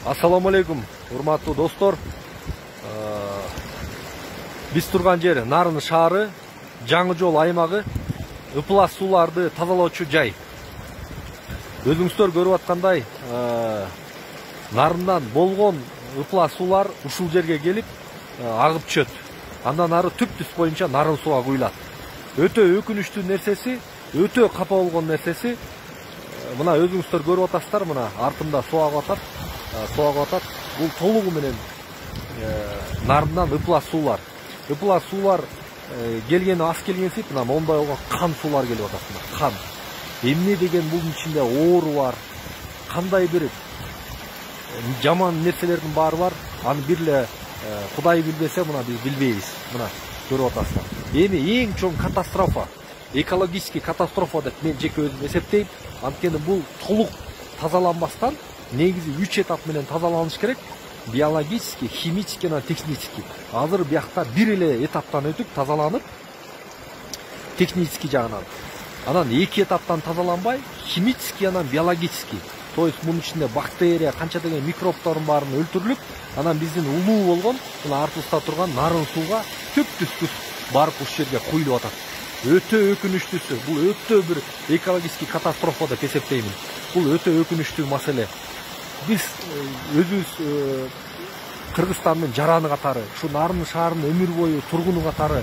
Ассаламу алейкум, урматтуу достор. Биз турган жер Нарын шаары, Жаңы жол аймагы, ыплас сууларды тазалоочу жай. Өзүңүздөр көрүп аткандай, Нарындан болгон ыплас суулар ушул жерге келип агып түшөт. Андан ары түп-түз боюнча Нарын сууга куюлат. Өтө өкүнүчтүү нерсеси, өтө капа болгон нерсеси, мына өзүңүздөр көрүп атасыздар, мына артымда суу агып атат. Бул толугу менен Нарындан ыплас суулар. Ыплас суулар келгени аз келгенсип, мына мондай болгон кан суулар келип атат. Кан. Эмне деген бул ичинде оору бар. Кандай бир жаман нерселердин баары бар. Аны бирле Кудай билбесе, мына биз билбейбиз. Мына көрүп атасыздар. Эми эң чоң катастрофа, экологический катастрофа деп мен жеке өзүм эсептейм. Анткени бул толук тазаланбастан негизи 3 этап менен тазаланыш керек. Биологический, химический жана технический. Азыр биякта бир эле этаптан өтүп тазаланып, технический жагынан. Анан 2 этаптан тазаланбай, химический анан биологический. То есть мунун ичинде бактерия, канча деген микробтордун баарын өлтүрүлүп, анан биздин улуу болгон мына артыбызда турган Нарын сууга түп-түз барып ушул жерге куюлуп атат. Өтө өкүнүчтүүсү, бул өтө бир экологический катастрофа деп эсептеймин. Бул өтө өкүнүчтүү маселе. Биз өзүбүз Кыргызстандын жараны катары, ушу Нарын шаарынын өмүр бою тургуну катары,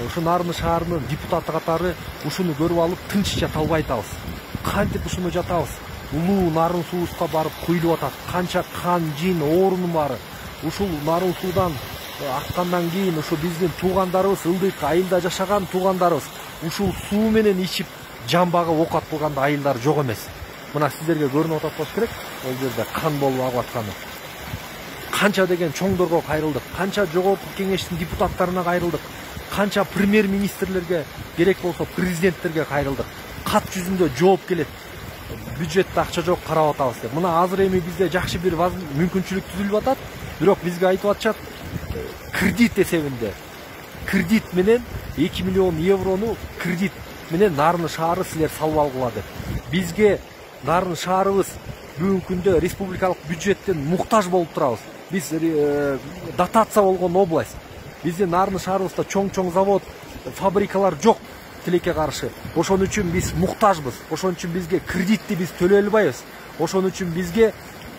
ушу Нарын шаарынын депутаты катары ушуну көрүп алып тынч жата албай атабыз. Кантип ушуну жатабыз? Улуу Нарын суубузга барып куюлуп атат. Канча кан, жин, оорунун баары. Ушул Нарын суудан аккандан кийин ушу биздин туугандарыбыз, ылдык айылда жашаган туугандарыбыз ушул суу менен ичип жан багып оокат кылган айылдар жок эмес. Мына сиздерге көрүнүп атат болуш керек, ол жерде кан болуп агып атканы. Канча деген чоңдорго кайрылдык, канча жогорку кеңештин депутаттарына кайрылдык, канча премьер-министрлерге, керек болсо президенттерге кайрылдык. Кат жүзүндө жооп келет. Бюджетте акча жок, карап атабыз деп. Мына азыр эми бизде жакшы бир мүмкүнчүлүк түзүлүп атат, бирок бизге айтып атышат, кредит эсебинде. Кредит менен 2 миллион еврону кредит менен Нарын шаары силер салып алгыла деп. Бизге Нарын шаарыбыз бүгүнкү күндө республикалык бюджеттен муктаж болуп турабыз. Биз дотация болгон область. Биздин Нарын шаарыбызда чоң завод, фабрикалар жок тилекке каршы. Ошон үчүн биз муктажбыз. Ошон үчүн бизге кредитти биз төлөй албайбыз. Ошон үчүн бизге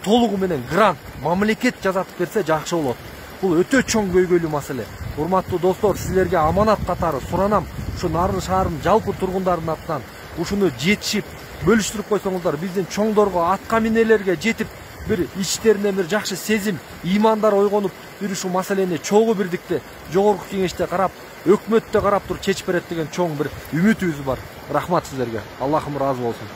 толугу менен грант, мамлекет жазатып берсе жакшы болот. Бул өтө чоң көйгөйлүү маселе. Урматтуу достор, силерге аманат катары суранам, ушу Нарын шаарынын жалпы тургундарынын атынан ушуну жетишип бөлүштүрүп койсоңуздар, биздин чоңдорго, атка минелерге жетип, бир ичтеринен бир жакшы сезим, ыймандар ойгонуп, бир ушул маселени чогуу бирдикте жогорку кеңеште карап, өкмөттө карап туруп чечип берет деген чоң бир үмүтүбүз бар. Рахмат сиздерге. Аллахым ыраазы болсун.